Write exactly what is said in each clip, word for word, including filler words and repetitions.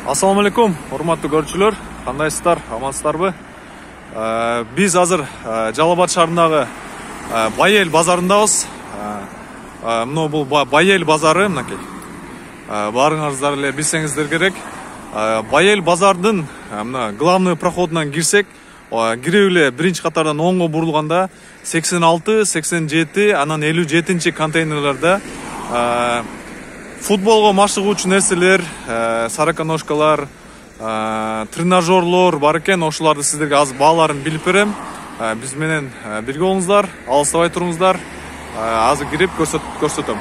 Assalamu alaikum, урматтуу көрүүчүлөр, кандайсыздар, амансыздарбы? Биз азыр Жалал Абад шаарындагы Байел базарындабыз. Мына бул Байел базары, мынакей. Баарыңыздар эле билсеңиздер керек. Байел базардын мына главный проходунан кирсек, кирип эле биринчи катардан оңго бурулганда сексен алты, сексен жети, анан элүү жетинчи контейнерлерде футболго машыгуучу нерселер, сороконожкалар, тренажерлор бар экен. Ошолорду сиздерге азыр бааларын билип берем. Биз менен бирге болуңуздар, алыстабай туруңуздар. Азыр кирип көрсөтөм.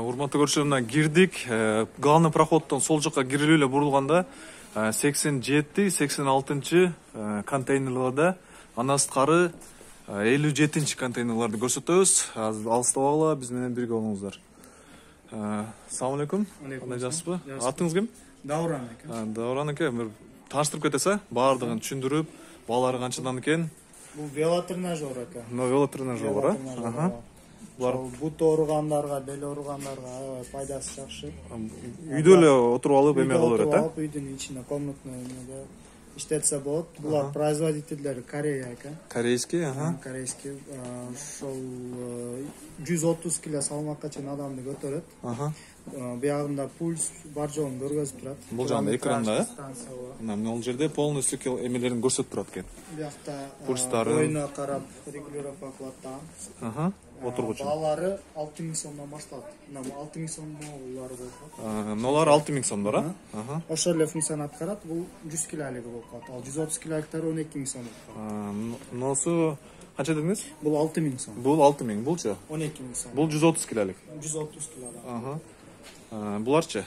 Урматтуу көрүүчүлөр, кирдик. Главный проходдон сол жакка кирип эле бурулганда сексен жети, сексен алтынчы контейнерлерде, андан сырткары элүү жетинчи контейнерлерди көрсөтөбүз. Азыр алыстабагыла, биз менен бирге болуңуздар. Assalamu alaikum. Кандай жассызбы? Атыңыз ким? Дауран экен. Дауран экен. Бир тааныштырып кетесиз, баардыгын түшүндүрүп, баалары канчадан экен? Бул велотренажер экен. Мына велотренажер бар, а? Булар бут ооругандарга, бел ооругандарга аябай пайдасы жакшы. Үйдө эле отуруп алып эме кыла берет, а? Үйдүн ичинде комнатный эмеде иштетсе болот. Булар производительдери Корея экен. Корейский, ага. Корейский. Ошол жүз отуз кило салмакка чейин адамды көтөрөт. Ага. Биягында пульс бар жогун көргөзүп турат. Бул жагында экранда, э? Мына бул жерде полностью эмелерин көрсөтүп турат экен. Биякта пульстары, бойуна карап регулировка кылат да. Ага. Отургучу. Баалары алты миң сомдон башталат. Мына алты миң сомдолор болот. Мыналар алты миң сомдор, а? Ага. Ошол эле функцияны аткарат. Бул жүз килолугу болуп калат. Ал жүз отуз килолуктары он эки миң сом болуп калат. Мынусу канча дедиңиз? Бул алты миң сом. Бул алты миң, булчу? он эки миң сом. Бул жүз отуз килолук. жүз отуз килолук. Ага. Буларчы?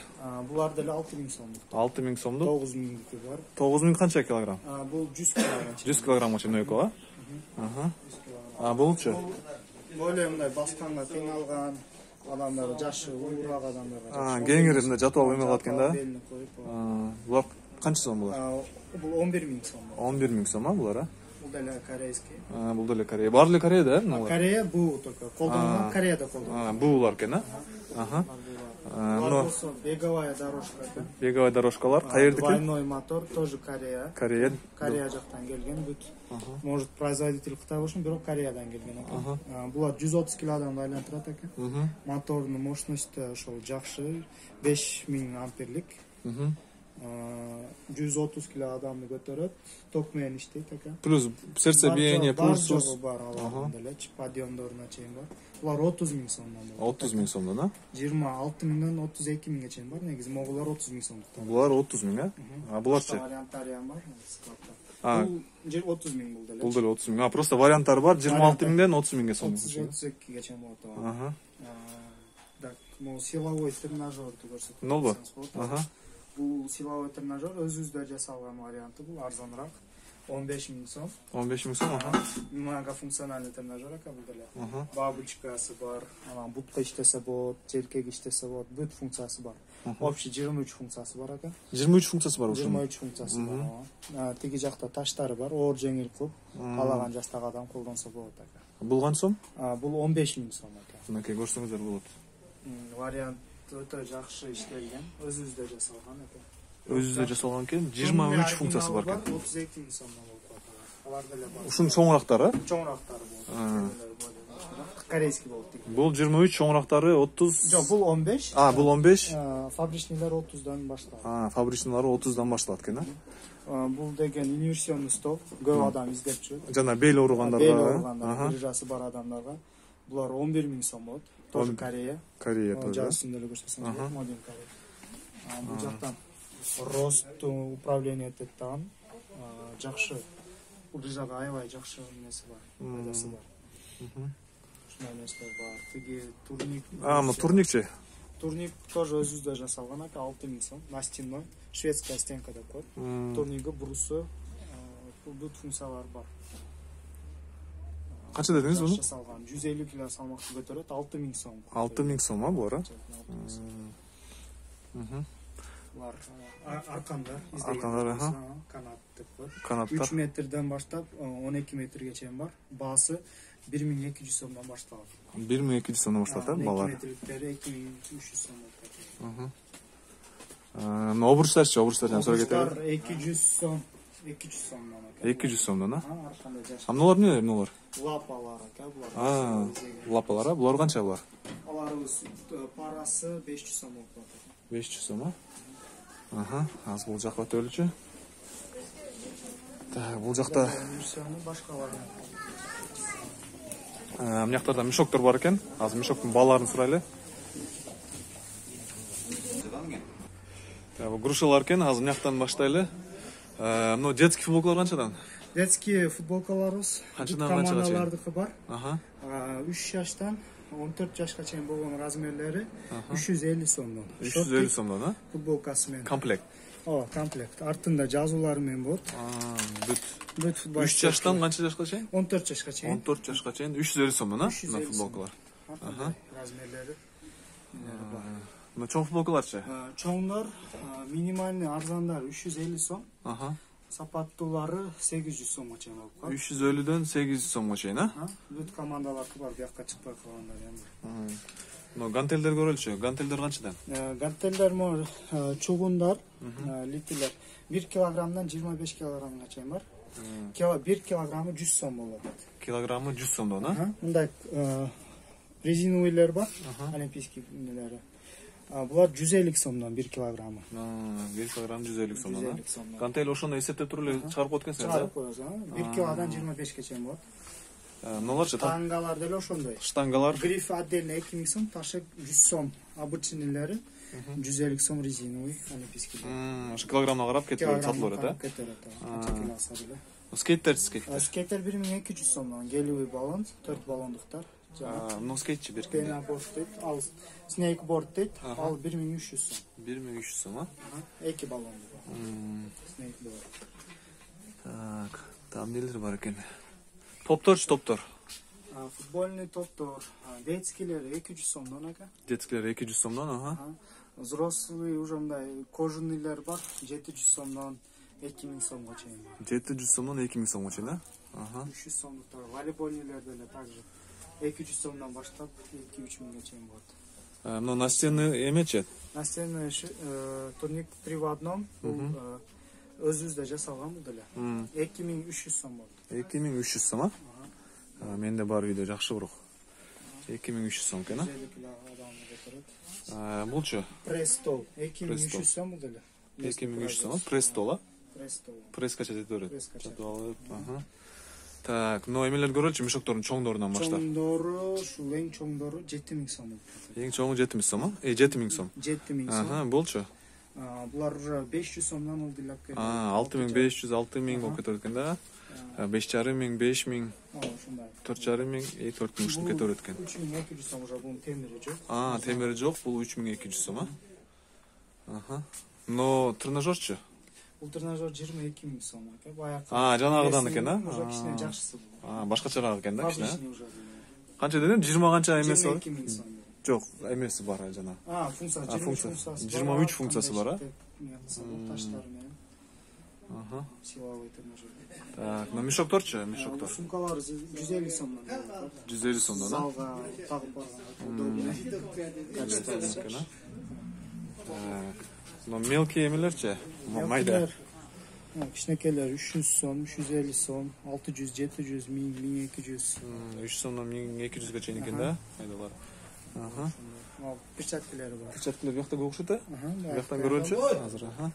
Булар деле алты миң сомдук. алты миң сомдук. тогуз миңдики бар. тогуз миң канча килограмм? Бул жүз килограмм. жүз килограммга чейин экөө, а? Ага. А булчу? Более мындай басканга кыйналган адамдар, жашы ууурак адамдарга. А, кеңири мындай жатып алып эме кылат экен да? Булар канча сом булар? Бул он бир миң сом. он бир миң сом, а булар, а? Бул деле корейский. А, бул деле Корея. Баары эле Кореяда, э? Корея буу только. Колдонгон Кореяда колдонгон. А, буулар экен, а? Ага. Но беговая дорожка. Беговая дорожкалар каердики? Двойной мотор тоже Корея. Корея. Корея жактан келген бүт. Может производитель Кытай болушун, бирок Кореядан келген экен. Булар жүз отуз кило адамды айлантырат экен. Мотордун мощности ошол жакшы, беш миң амперлик. жүз отуз кило адамды көтөрөт, ток менен иштейт экен. Плюс сердце биение, пульс бар, алардын делечи, подъемдоруна чейин бар. Булар отуз миң сомдон болот. отуз миң сомдон, а? жыйырма алты миңден отуз эки миңге чейин бар. Негизи могулар отуз миң сомдук. Булар отуз миң, а? А буларчы? Варианттары бар, складта. А, бул отуз миң бул деле. Бул деле отуз миң. А, просто варианттары бар, жыйырма алты миңден отуз миңге сом. отуз экиге чейин болот. Ага. Так, могу силовой тренажерди көрсөтөм. Нолбу? Ага. Бул силовой тренажер өзүбүздө жасалган варианты, бул арзаныраак. он беш миң сом. он беш миң сом, ага. Многофункциональный тренажер экен бул деле. Бабочкасы бар, анан бутка иштесе болот, желкеге иштесе болот, бүт функциясы бар. Общий жыйырма үч функциясы бар экен. жыйырма үч функциясы бар ушунун. жыйырма үч функциясы бар. Тиги жакта таштары бар, оор жеңил кылып, каалаган жаштагы адам колдонсо болот экен. Бул канча сом? Бул он беш миң сом экен. Мынакей көрсөңүздөр болот. Вариант өтө жакшы иштелген, өзүбүздө жасалган экен. Өзүбүздө жасалган экен, жыйырма үч функциясы бар экен. отуз эки миң сомдон болуп калат. Алар деле бар. Ушунун чоңурактары? Чоңурактары болот. Корейский болот. Бул жыйырма үч, чоңурактары отуз. Жок, бул он беш. А, бул он беш. Фабричныйлар отуздан башталат. А, фабричныйлары отуздан башталат экен, а? Бул деген инверсионный стол, көп адам издеп жүрөт. Жана бел ооругандарга, бел ооругандарга, грыжасы бар адамдарга. Булар он бир миң сом болот. Тоже Корея. Корея тоже. Жасын деле көрсөтсөң, Модин Корея. Бул жактан рост управление этет таган жакшы. Грыжага аябай жакшы нерсе бар, пайдасы бар. Ушундай нерселер бар. Тиги турник. А, мо турникчи? Турник тоже өзүбүздө жасалган экен, алты миң сом. Настенной, шведская стенка деп коет. Турниги, брусу, бүт функциялары бар. Канча дедиңиз муну? Жасалган жүз элүү кило салмакты көтөрөт, алты миң сом. алты миң сом, а булар? Булар аркандар, аркандар, аха. Канат деп коет. Канаттар. үч метрден баштап он эки метрге чейин бар. Баасы бир миң эки жүз сомдон башталат. бир миң эки жүз сомдон башталат, э, балар. метрликтери эки миң үч жүз сом болот. Мына обручтарчы, обручтардан сурап кетели. эки жүз сом, эки жүз сомдон экен. эки жүз сомдон, а? Ар кандай жаш. А мыналар эмне, эмне булар? Лапалар экен булар. А, лапалар, а? Булар канча булар? Аларыбыз парасы беш жүз сом болуп атат. беш жүз сом, а? Аха, аз бул жакка өтөлүчү. Так, бул жакта башкалар. Мына жактарда мешоктор бар экен. Азыр мешоктун бааларын сурайлы. Так, бул грушалар экен. Азыр мына жактан баштайлы. Мына детский футболкалар канчадан? Детский футболкаларыбыз канчадан канчага чейин? Командалардыкы бар. Аха. үч жаштан он төрт жашка чейин болгон размерлери үч жүз элүү сомдон. үч жүз элүү сомдон, а? Футболкасы менен. Комплект. Ооба, комплект. Артында жазуулары менен болот. А, бүт. Бүт футбол. үч жаштан канча жашка чейин? он төрт жашка чейин. он төрт жашка чейин үч жүз элүү сомдон, а? Мына футболкалар. Аха. Размерлери. Мына чоң футболкаларчы? Чоңдор минимальный арзандары үч жүз элүү сом. Аха. Сапаттуулары сегиз жүз сомго чейин болуп калат. үч жүз элүүдөн сегиз жүз сомго чейин, а? Бүт командалар бар, бияка чыкпай калгандар эми. Мына гантелдер көрөлчү. Гантелдер канчадан? Гантелдер мо чугундар, литилер бир килограммдан жыйырма беш килограммга чейин бар. бир килограммы жүз сом болот. Килограммы жүз сомдон, а? Мындай резиновыйлар бар, олимпийский нелери. Булар жүз элүү сомдон бир килограммы. бир килограмм жүз элүү сомдон. Гантел ошондо эсептеп туруп эле чыгарып коет экенсиң, да? Чыгарып коебуз, бир килодан жыйырма бешке чейин болот. Мыналарчы? Штангалар деле ошондой. Штангалар Гриф отдельно эки миң сом, ташык жүз сом. Обычныйлары жүз элүү сом резиновый олимпийский. Ошо килограммга карап кетип сатылып берет, а? Кетет, а. Скейттер, скейттер. Скейттер бир миң эки жүз сомдон. Гелевый баллон, төрт баллондуктар. Ну скейтчи бир ким? Пенаборд дейт, ал снейкборд дейт, ал бир миң үч жүз сом. бир миң үч жүз сом, а? эки баллондук. Снейкборд. Так, там нелер бар экен? Топторчу, топтор. Футбольный топтор, детскийлер эки жүз сомдон экен. Детскийлер эки жүз сомдон, аха. Взрослый уже мындай кожаныйлар бар, жети жүз сомдон эки миң сомго чейин бар. жети жүз сомдон эки миң сомго чейин, а? Аха. үч жүз сомдуктар, волейбольныйлар деле также эки жүз сомдон баштап эки үч миңге чейин болот. Мына настенный эмечи? Настенный турник три в одном, бул өзүбүздө жасалган бул деле. эки миң үч жүз сом болот. эки миң үч жүз сом, а? Менде бар үйдө жакшы бирок. эки миң үч жүз сом экен, а? Булчу? Пресс-стол эки миң үч жүз сом бул деле. эки миң үч жүз сом, пресс-стол, а? Пресс-стол. Пресска чечет берет. Чатып алып, аха. Так, но эмелер көрөлчү, мешоктордун чоңдорунан баштап. Чоңдору, ушул эң чоңдору жети миң сом. Эң чоңу жети миң сом, а? Э, жети миң сом. жети миң сом. Аха, болчу. Булар уже беш жүз сомдон улдулап кетет. А, алты миң беш жүз, алты миң болуп кетет экен да. беш жарым миң, беш миң, төрт жарым миң, төрт миң ушинтип кетет экен. үч миң эки жүз сом уже бунун темири жок. А, темири жок, бул үч миң эки жүз сом, а? Аха. Но тренажерчу? Бул тренажер жыйырма эки миң сом экен. Баягы. А, жанагыдан экен, а? Уже кичине жакшысы. А, башкачараак экен да, кичине. Обычный уже. Канча дедим? жыйырма канча эмеси бар? жыйырма эки миң сом. Жок, эмеси бар жана. А, функция, функциясы. жыйырма үч функциясы бар, а? Таштар менен. Аха. Силовой тренажер. Так, но мешокторчу, мешоктор. Сумкалар жүз элүү сомдон. жүз элүү сомдон, да? Залга тагып барган. Так. Но мелкий эмелерчи? Майда. Кичинекейлер үч жүз сом, үч жүз элүү сом, алты жүз, жети жүз, миң, миң эки жүз. үч сомдон миң эки жүзгө чейин экен да? Майдалар. Аха. Перчаткалары бар. Перчаткалар бияқта көп окшойт, а? Бияктан көрөлчү азыр, аха.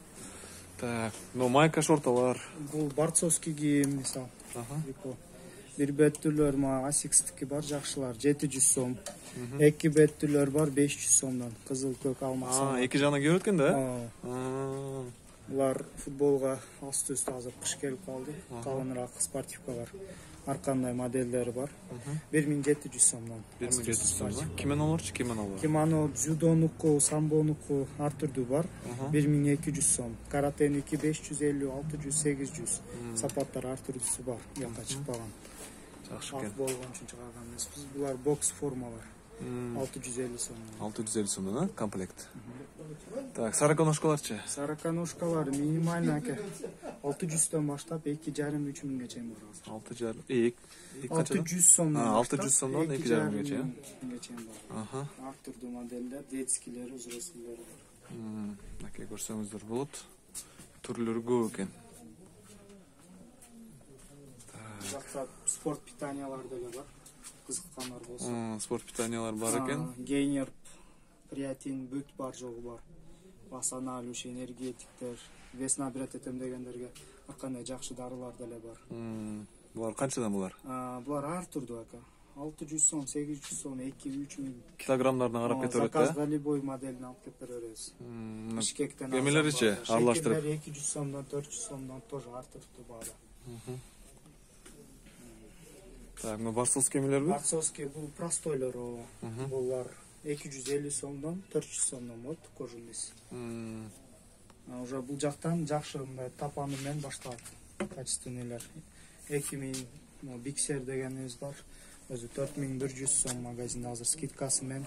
Так, но майка шорталар. Бул борцовский кийим, мисал. Аха. Бир беттүүлөр ма асикстики бар, жакшылар жети жүз сом. Эки беттүүлөр бар беш жүз сомдон. Кызыл, көк, алмак. А, эки жагынан кийип өткөн да? Аа. Булар футболга асты-үстү азыр кыш келип калды. Калыныраак спортивкалар. Ар кандай модельдери бар. бир миң жети жүз сомдон. бир миң жети жүз сомдон. Кимонолорчу, кимонолор? Кимоно, дзюдонуку, самбонуку ар түрдүү бар. бир миң эки жүз сом. Каратеники беш жүз элүү, алты жүз, сегиз жүз. Сапаттар ар түрдүүсү бар. Янка чыкпаган. Жакшы экен. Болгон үчүн чыгарган эмеспиз. Булар бокс формалар. алты жүз элүү сомдон. алты жүз элүү сомдон, а? Комплект. Так, сороконожкаларчы? Сороконожкалар минимально аке алты жүздөн баштап эки жарым үч миңге чейин бар. алты жарым, эки алты жүз сомдон. алты жүз сомдон эки жарым миңге чейин. Аха. Ар түрдүү модельдер, детскийлери, взрослыйлары бар. Көрсөңүздөр болот. Түрлөрү көп экен. Жакта спорт питаниялар деле бар. Кызыккандар болсо. Спорт питаниялар бар экен. Гейнер, креатин, бүт бар жогу бар. Басана, алюш, энергетиктер, вес набирать этем дегендерге ар кандай жакшы дарылар деле бар. Булар канчадан булар? Булар ар түрдүү ака. алты жүз сом, сегиз жүз сом, эки үч миң. Килограммдарына карап кете берет да? Заказга любой моделин алып келип бере беребиз. Бишкектен Кемелеричи аралаштырып. эки жүз сомдон, төрт жүз сомдон тоже ар түрдүү баада. Так, мына барсовский кемелерби? Барсовский бул простойлор, булар эки жүз элүү сомдон, төрт жүз сомдон болот, кожунес. Уже бул жактан жакшы мындай тапаны менен башталат. Качественныйлар. эки миң биксер дегенибиз бар. Өзү төрт миң бир жүз сом магазинде азыр скидкасы менен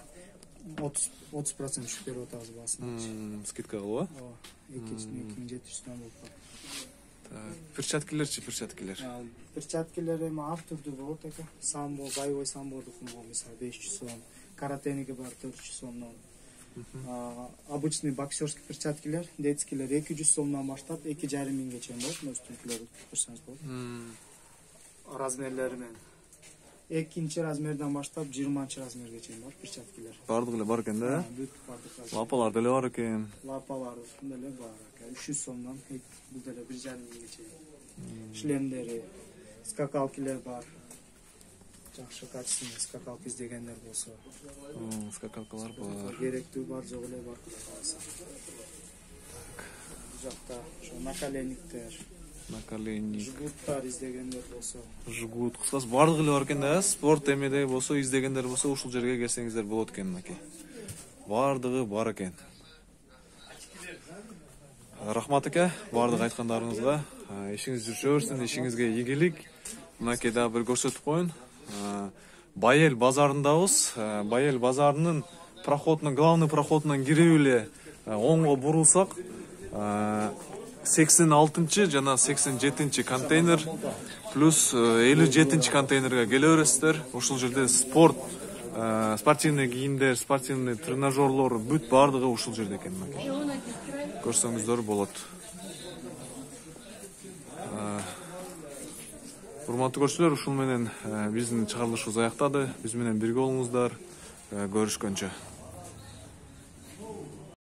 отуз процент түшүп берип атабыз баасын. Скидка кылып, ооба. эки миң жети жүз сом болуп калат. Так, перчаткилерчи, перчаткилер. Перчаткилер эми ар түрдүү болот экен. Самбо, боевой самбордуку мисалы беш жүз сом, каратеники бар төрт жүз сомдон. Обычный боксерский перчаткилер, детскийлер эки жүз сомдон баштап эки жарым миңге чейин болот. Мөстүнкүлөрдү көрсөңүз болот. Размерлери менен. Экинчи размерден баштап жыйырманчы размерге чейин бар перчаткилер. Бардыгы эле бар экен да? Бүт бардыгы. Лапалар деле бар экен. Лапалар деле бар экен. үч жүз сомдон бул деле бир жарым миңге чейин. Шлемдери, скакалкилер бар. Жакшы качественный скакалка издегендер болсо. Скакалкалар бар. Керектүү бар, жок эле бар кудай кааласа. Бул жакта ошо наколенниктер, наколенник, жгуттар издегендер болсо. Жгут, кыскасы бардыгы эле бар экен да. Спорт эмеде болсо, издегендер болсо, ушул жерге келсеңиздер болот экен мынакей. Бардыгы бар экен. Рахмат эке, бардык айткандарыңызга. Ишиңиз жүрүшө берсин, ишиңизге ийгилик. Мынакей дагы бир көрсөтүп коеюн. Байел базарындабыз. Байел базарынын проходунун, главный проходунан кирип эле оңго бурулсак, сексен алтынчы жана сексен жетинчи контейнер плюс элүү жетинчи контейнерге келе бересиздер. Ушул жерде спорт, спортивный кийимдер, спортивный тренажерлор бүт бардыгы ушул жерде экен. Көрсөңүздөр болот. Урматтуу көрүүчүлөр, ушул менен биздин чыгарылышыбыз аяктады. Биз менен бирге болуңуздар. Көрүшкөнчө.